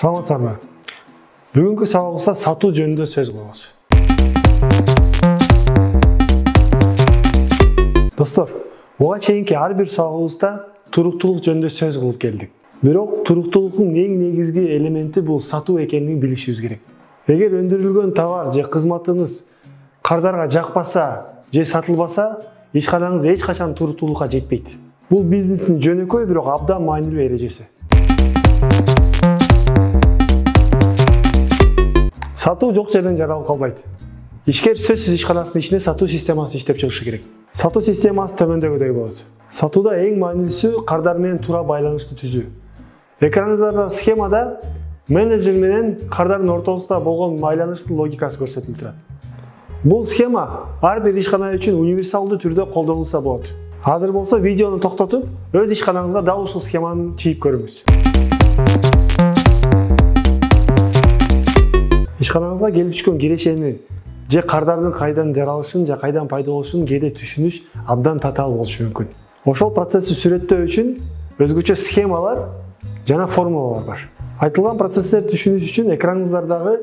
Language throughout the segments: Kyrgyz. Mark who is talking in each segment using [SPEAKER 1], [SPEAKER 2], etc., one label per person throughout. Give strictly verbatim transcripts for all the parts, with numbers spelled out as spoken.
[SPEAKER 1] Саламатсыздарбы? Бүгүнкү сабагыбызда сатуу жөнүндө сөз кылабыз. Достор, буга чейинки ар бир сабагыбызда туруктуулук жөнүндө сөз кылып келдик. Бирок туруктуулуктун эң негизги элементи бул сатуу экенин билишибиз керек. Эгер өндүрүлгөн товар же кызматыңыз кардарга жакпаса же сатылбаса, ишканаңыз эч качан туруктуулукка жетпейт. Бул бизнестин жөнөкөй, бирок абдан маанилүү эрежеси. Сатуу жок жерден жаралып калбайт. Ишкер сөзсүз ишканасынын ичинде сатуу системасы иштеп чыгышы керек. Сатуу системасы төмөндөгүдөй болот. Сатууда эң маанилүүсү кардар менен туура байланышты түзүү. Экраныңыздарда схемада менеджер менен кардардын ортосунда болгон байланыштын логикасы көрсөтүлүп турат. Бул схема ар бир ишкана үчүн универсалдуу түрдө колдонулса болот. Азыр болсо видеону токтотуп, өз ишканаңызга дал ушул схеманы чийип көрүңүз. Ишканаңызга келип түшкөн кирешени же кардардын кайдан жаралышын же кайдан пайда болушун кээде түшүнүш абдан татаал болушу мүмкүн. Ошол процессти сүрөттөө үчүн өзгөчө схемалар жана формулалар бар. Айтылган процесстерди түшүнүш үчүн экраныңыздардагы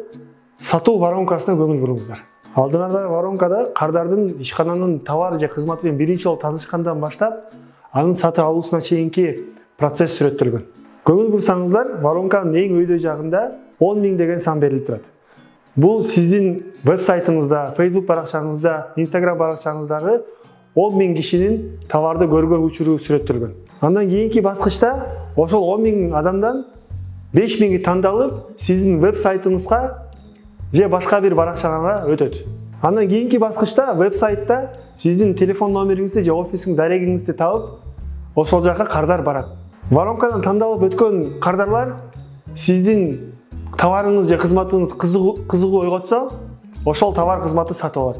[SPEAKER 1] сатуу воронкасына көңүл буруңуздар. Алдыңардагы воронкада кардардын ишкананын товар же кызматы менен биринчи жолу таанышкандан баштап, анын сатып алуусуна чейинки процесс сүрөттөлгөн. Көңүл бурсаңыздар, воронканын эң өйдө жагында он миң деген сан берилип турат. Бул сиздин веб-сайтыңызда, Facebook баракчаңызда, Instagram баракчаңыздагы он миң кишинин товарды көргөн учуру сүрөттөлгөн. Андан кийинки баскычта ошол он миң адамдан беш миңи тандалып, сиздин веб-сайтыңызга же башка бир баракчаңарга өтөт. Андан кийинки баскычта веб-сайтта сиздин телефон номериңизди же офисиң дарегиңизди табып, ошол жака кардар барат. Воронкадан тандалып өткөн кардарлар сиздин товарыңыз же кызматыңыз кызыгуу ойготсо, ошол товар кызматты сатып алат.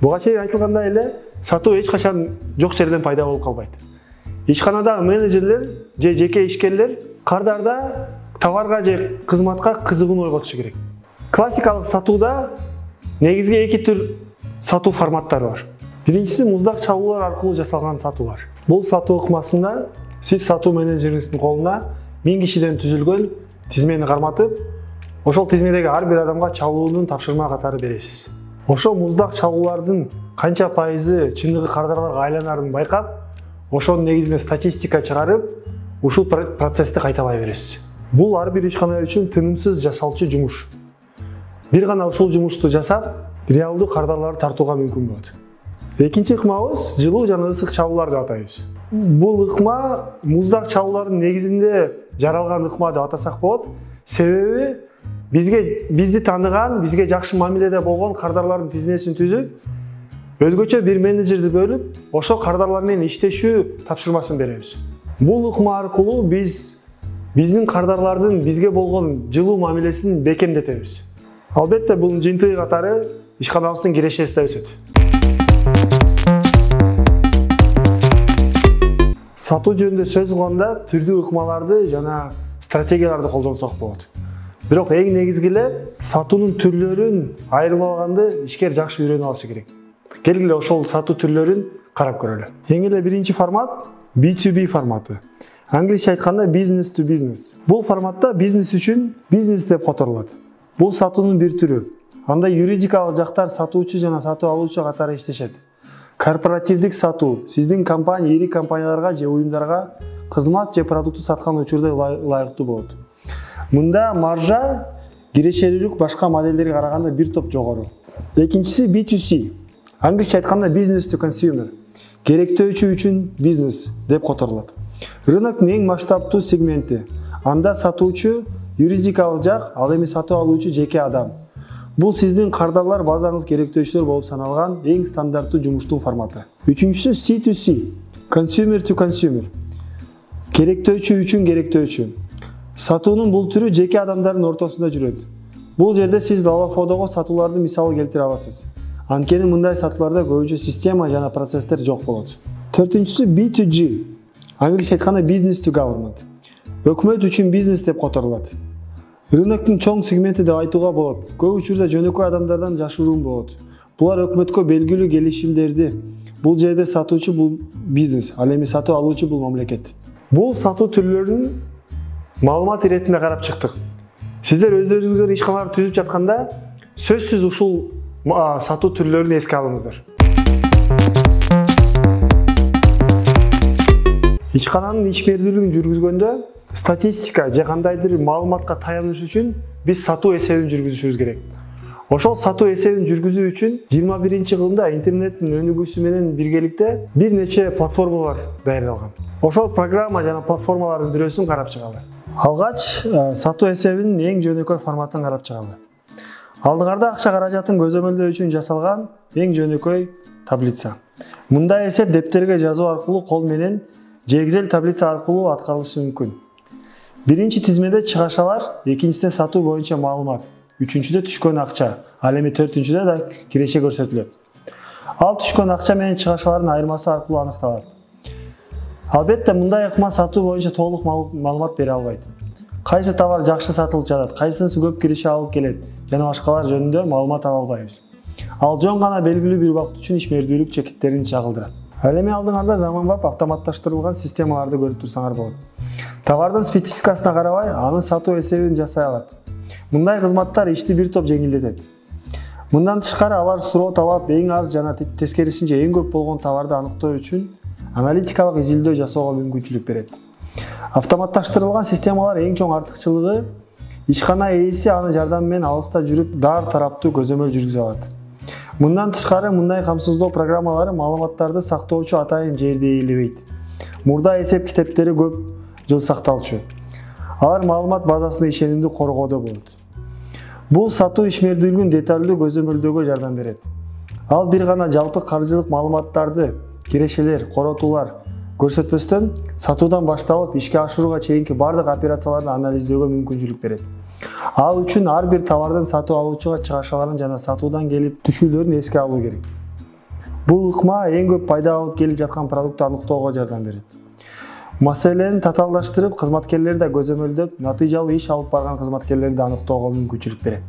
[SPEAKER 1] Буга чейин айтылгандай эле, сатуу эч качан жок жерден пайда болуп калбайт. Ишканадагы менеджерлер же жеке ишкерлер кардарда товарга же кызматка кызыгууну ойготушу керек. Классикалык сатууда негизги эки түр сатуу форматтары бар. Биринчиси муздак чабуулар аркылуу жасалган сатуулар. Бул сатуу ыкмасында сиз сатуу менеджериңиздин колуна миң кишиден түзүлгөн тизмени карматып, ошол тизмедеги ар бир адамга чабуунун тапшырма катары бересиз. Ошол муздак чабуулардын канча пайызы чындыгы кардарларга айланарын байкап, ошонун негизинде статистика чыгарып, ушул процессти кайталай бересиз. Бул ар бир ишкана үчүн тынымсыз жасалчу жумуш. Бир гана ушул жумушту жасап, реалдуу кардарларды тартууга мүмкүн болот. Экинчи ыкмабыз жылуу жана ысык чабуулар деп атайбыз. Бул ыкма муздак чабуулардын негизинде жаралган ыкма деп атасак болот. Себеби бизге бизди тааныган, бизге жакшы мамиледе болгон кардарлардын тизмесин түзүп, өзгөчө бир менеджерди бөлүп, ошол кардарлар менен иштешүү тапшырмасын беребиз. Бул ыкма аркылуу биз биздин кардарлардын бизге болгон жылуу мамилесин бекемдетебиз. Албетте бунун жыйынтыгы катары ишканабыздын кирешеси да өсөт. Сатуу жөнүндө сөз кылганда түрдүү ыкмаларды жана стратегияларды колдонсок болот. Бирок эң негизгиле сатуунун түрлөрүн айырып алганды ишкер жакшы үйрөнүп алышы керек. Келгиле ошол сатуу түрлөрүн карап көрөлү. Эң эле биринчи формат би ту би форматы. Англисче айтканда business to business. Бул форматта бизнес үчүн бизнес деп которулат. Бул сатуунун бир түрү. Анда юридикалык жактар сатуучу жана сатып алуучу катары иштешет. Корпоративдик сатуу сиздин компания ири компанияларга же уюмдарга кызмат же продукту саткан учурда лайыктуу болот. Мында маржа кирешелүүлүк башка модельдерге караганда бир топ жогору. Экинчиси би ту си. Англисче айтканда business to consumer. Керектөөчү үчүн бизнес деп которулат. Рыноктун эң масштабтуу сегменти. Анда сатуучу юридикалык жак, ал эми сатып алуучу жеке адам. Бул сиздин кардарлар базаңыз керектөөчүлөр болуп саналган эң стандарттуу жумуштун форматы. Үчүнчүсү си ту си. Consumer to consumer. Керектөөчү үчүн керектөөчү. Сатуунун бул түрү жеке адамдардын ортосунда жүрөт. Бул жерде сиз Лалафодого сатууларды мисалы келтире аласыз. Анткени мындай сатууларда көбүнчө система жана процесстер жок болот. Төртүнчүсү би ту жи. Англисче айтканда business to government. Өкмөт үчүн бизнес деп которулат. Рыноктун чоң сегменти деп айтууга болот. Көп учурда жөнөкөй адамдардан жашыруун болот. Булар өкмөткө белгилүү келишимдерди. Бул жерде сатуучу бул бизнес, ал эми сатып алуучу бул мамлекет. Бул сатуу түрлөрүн маалымат иретинде карап чыктык. Сиздер өздөрүңүздөр ишканаларды түзүп жатканда сөзсүз ушул сатуу түрлөрүн эске алыңыздар. Ишкананын ишмердүүлүгүн жүргүзгөндө статистика же кандайдыр маалыматка таяныш үчүн биз сатуу эсебин жүргүзүшүбүз керек. Ошол сатуу эсебин жүргүзүү үчүн жыйырма биринчи кылымда интернеттин өнүгүүсү менен биргеликте бир нече платформалар даярдалган. Ошол программа жана платформалардын бирөөсүн карап чыгалы. Алгач сатуу эсебинин эң жөнөкөй форматын карап чыгалы. Алдыңарда акча каражатын көзөмөлдөө үчүн жасалган эң жөнөкөй таблица. Мындай эсеп дептерге жазуу аркылуу кол менен же Excel таблица аркылуу аткарылышы мүмкүн. Биринчи тизмеде чыгашалар, экинчисинде сатуу боюнча маалымат, үчүнчүдө түшкөн акча, ал эми төртүнчүдө да киреше көрсөтүлөт. Ал түшкөн акча менен чыгашалардын айырмасы аркылуу аныкталат. Албетте мындай ыкма сатуу боюнча толук маалымат бере албайт. Кайсы товар жакшы сатылып жатат, кайсынысы көп киреше алып келет жана башкалар жөнүндө маалымат ала албайбыз. Ал жөн гана белгилүү бир убакыт үчүн ишмердүүлүк чекиттерин чагылдырат. Ал эми алдыңарда заманбап автоматташтырылган системаларды көрүп турсаңар болот. Товардын спецификасына карабай, анын сатуу эсебин жасай алат. Мындай кызматтар ишти бир топ жеңилдетет. Мындан тышкары алар суроо талап эң аз жана тескерисинче эң көп болгон товарды аныктоо үчүн аналитикалык изилдөө жасоого мүмкүнчүлүк берет. Автоматташтырылган системалар эң чоң артыкчылыгы ишкана ээси анын жардамы менен алыста жүрүп дар тараптуу көзөмөл жүргүзө алат. Мындан тышкары мындай камсыздоо программалары маалыматтарды сактоочу атайын жерди ээлебейт. Мурда эсеп китептери көп жыл сакталчу. Алар маалымат базасында ишенимди коргоодо болот. Бул сатуу ишмердүүлүгүн деталдуу көзөмөлдөөгө жардам берет. Ал бир гана жалпы каржылык маалыматтарды, кирешелер, коротуулар көрсөтпөстөн сатуудан башталып ишке ашырууга чейинки бардык операцияларды анализдөөгө мүмкүнчүлүк берет. Ал үчүн ар бир товардын сатуу алуучуга чыгашаларын жана сатуудан келип түшүүлөрүн эске алуу керек. Бул ыкма эң көп пайда алып келип жаткан продукту аныктоого жардам берет. Маселени татаалдаштырып, кызматкерлерди да көзөмөлдөп, натыйжалуу иш алып барган кызматкерлерди аныктоого мүмкүнчүлүк берет.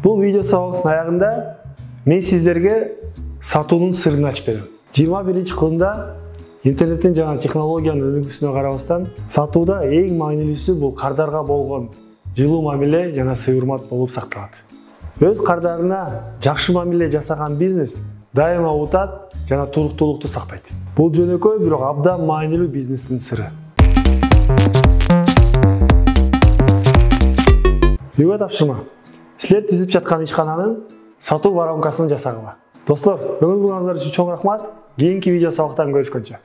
[SPEAKER 1] Бул видео сабагыбыздын аягында мен сиздерге сатуунун сырын ачып берем. жыйырма биринчи кылымда интернеттин жана технологиянын өнүгүүсүнө карабастан сатууда эң маанилүүсү бул кардарга болгон жылуу мамиле жана сый-урмат болуп сакталат. Өз кардарына жакшы мамиле жасаган бизнес дайыма утат жана туруктуулукту сактайт. Бул жөнөкөй бирок абдан маанилүү бизнестин сыры. Үйгө тапшырма. Силер түзүп жаткан ишкананын сатуу воронкасын жасагыла. Достор, көңүл бурганыңыздар үчүн чоң рахмат. Кийинки видео сабактан көрүшкөнчө.